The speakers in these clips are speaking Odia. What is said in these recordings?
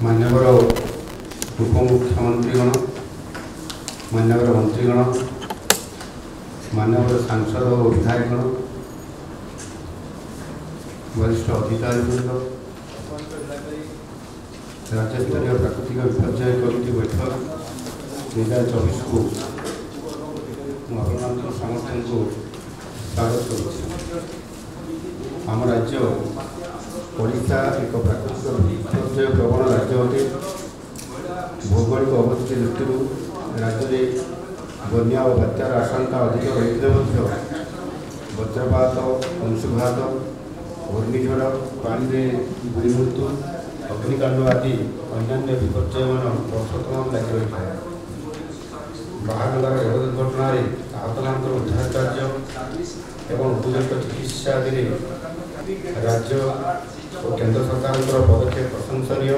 ମାନ୍ୟବର ଉପମୁଖ୍ୟମନ୍ତ୍ରୀଗଣ, ମାନ୍ୟବର ମନ୍ତ୍ରୀଗଣ, ମାନ୍ୟବର ସାଂସଦ ଓ ବିଧାୟକଗଣ, ବରିଷ୍ଠ ଅଧିକାରୀବୃନ୍ଦ, ରାଜ୍ୟସ୍ତରୀୟ ପ୍ରାକୃତିକ ବିପର୍ଯ୍ୟୟ କମିଟି ବୈଠକ 2024କୁ ମୁଁ ଆପଣମାନଙ୍କ ସମସ୍ତଙ୍କୁ ସ୍ୱାଗତ କରୁଛି। ଆମ ରାଜ୍ୟ ଓଡ଼ିଶା ଏକ ପ୍ରାକୃତିକ ବିପର୍ଯ୍ୟୟ ପ୍ରବଣ ରାଜ୍ୟ ଅଟେ। ଭୌଗୋଳିକ ଅବସ୍ଥିତି ଦୃଷ୍ଟିରୁ ରାଜ୍ୟରେ ବନ୍ୟା ଓ ବାତ୍ୟାର ଆଶଙ୍କା ଅଧିକ ରହିଥିଲେ ମଧ୍ୟ ବଜ୍ରପାତ, ଅଂଶୁଘାତ, ଘୂର୍ଣ୍ଣିଝଡ଼, ପାଣିରେ ବୁଡ଼ି ମୃତ୍ୟୁ, ଅଗ୍ନିକାଣ୍ଡ ଆଦି ଅନ୍ୟାନ୍ୟ ବିପର୍ଯ୍ୟୟମାନ ବର୍ଷ ତମାମ ଲାଗି ରହିଥାଏ। ବାହାନଗାର ରେଳ ଦୁର୍ଘଟଣାରେ ଆହତମାନଙ୍କର ଉଦ୍ଧାର କାର୍ଯ୍ୟ ଏବଂ ଉପଯୁକ୍ତ ଚିକିତ୍ସା ଆଦିରେ ରାଜ୍ୟ ଓ କେନ୍ଦ୍ର ସରକାରଙ୍କର ପଦକ୍ଷେପ ପ୍ରଶଂସନୀୟ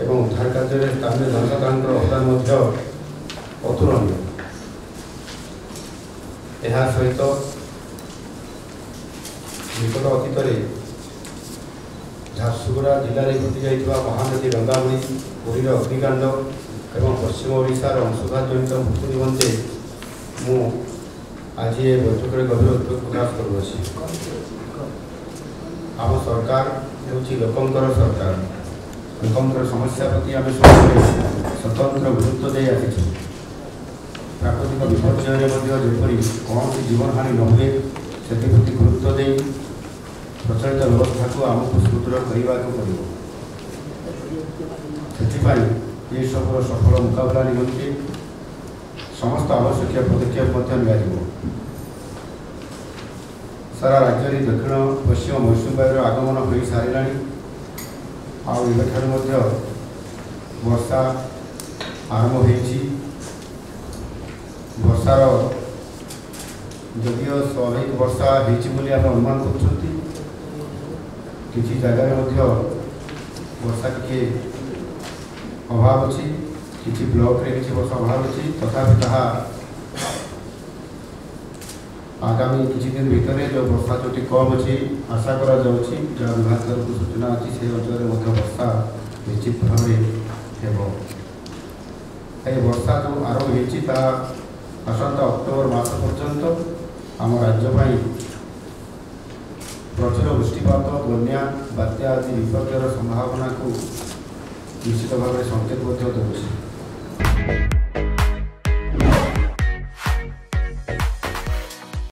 ଏବଂ ଉଦ୍ଧାର କାର୍ଯ୍ୟରେ ସ୍ଥାନୀୟ ଜନସାଧାରଣଙ୍କର ଅବଦାନ ମଧ୍ୟ ଅତୁଳନୀୟ। ଏହା ସହିତ ନିକଟ ଅତୀତରେ ଝାରସୁଗୁଡ଼ା ଜିଲ୍ଲାରେ ଘଟିଯାଇଥିବା ମହାନଦୀ ରଙ୍ଗାବୁଡ଼ି, ପୁରୀର ଅଗ୍ନିକାଣ୍ଡ ଏବଂ ପଶ୍ଚିମ ଓଡ଼ିଶାର ଅଂଶୁଘାତ ଜନିତ ମୃତ୍ୟୁ ନିମନ୍ତେ ମୁଁ ଆଜି ଏ ବୈଠକରେ ଗଭୀର ଉଦ୍ବେଗ ପ୍ରକାଶ କରୁଅଛି। ଆମ ସରକାର ହେଉଛି ଲୋକଙ୍କର ସରକାର। ଲୋକଙ୍କର ସମସ୍ୟା ପ୍ରତି ଆମେ ସବୁବେଳେ ସ୍ୱତନ୍ତ୍ର ଗୁରୁତ୍ୱ ଦେଇ ଆସିଛୁ। ପ୍ରାକୃତିକ ବିପର୍ଯ୍ୟୟରେ ମଧ୍ୟ ଯେପରି କୌଣସି ଜୀବନହାନି ନ ହୁଏ ସେଥିପ୍ରତି ଗୁରୁତ୍ୱ ଦେଇ ପ୍ରଚଳିତ ବ୍ୟବସ୍ଥାକୁ ଆମକୁ ସୁଦୃଢ଼ କରିବାକୁ ପଡ଼ିବ। ସେଥିପାଇଁ ଏସବୁର ସଫଳ ମୁକାବିଲା ନିମନ୍ତେ ସମସ୍ତ ଆବଶ୍ୟକୀୟ ପଦକ୍ଷେପ ମଧ୍ୟ ନିଆଯିବ। ସାରା ରାଜ୍ୟରେ ଦକ୍ଷିଣ ପଶ୍ଚିମ ମୌସୁମୀ ବାୟୁର ଆଗମନ ହୋଇସାରିଲାଣି। ଆଉ ଏବେଠାରୁ ମଧ୍ୟ ବର୍ଷା ଆରମ୍ଭ ହୋଇଛି। ବର୍ଷାର ଯଦିଓ ସ୍ୱାଭାବିକ ବର୍ଷା ହେଇଛି ବୋଲି ଆମେ ଅନୁମାନ କରୁଛନ୍ତି, କିଛି ଜାଗାରେ ମଧ୍ୟ ବର୍ଷା ଟିକେ ଅଭାବ ଅଛି, କିଛି ବ୍ଲକରେ କିଛି ବର୍ଷା ଅଭାବ ଅଛି। ତଥାପି ତାହା ଆଗାମୀ କିଛି ଦିନ ଭିତରେ ଯେଉଁ ବର୍ଷା ଯେଉଁଠି କମ୍ ଅଛି ଆଶା କରାଯାଉଛି, ଯାହା ବିଭାଗ ତରଫରୁ ସୂଚନା ଅଛି, ସେହି ଅଞ୍ଚଳରେ ମଧ୍ୟ ବର୍ଷା ନିଶ୍ଚିତ ଭାବରେ ହେବ। ଏହି ବର୍ଷା ଯେଉଁ ଆରମ୍ଭ ହେଇଛି ତାହା ଆସନ୍ତା ଅକ୍ଟୋବର ମାସ ପର୍ଯ୍ୟନ୍ତ ଆମ ରାଜ୍ୟ ପାଇଁ ପ୍ରଚୁର ବୃଷ୍ଟିପାତ, ବନ୍ୟା, ବାତ୍ୟା ଆଦି ବିପର୍ଯ୍ୟୟର ସମ୍ଭାବନାକୁ ନିଶ୍ଚିତ ଭାବରେ ସଂକେତ ମଧ୍ୟ ଦେଉଛି।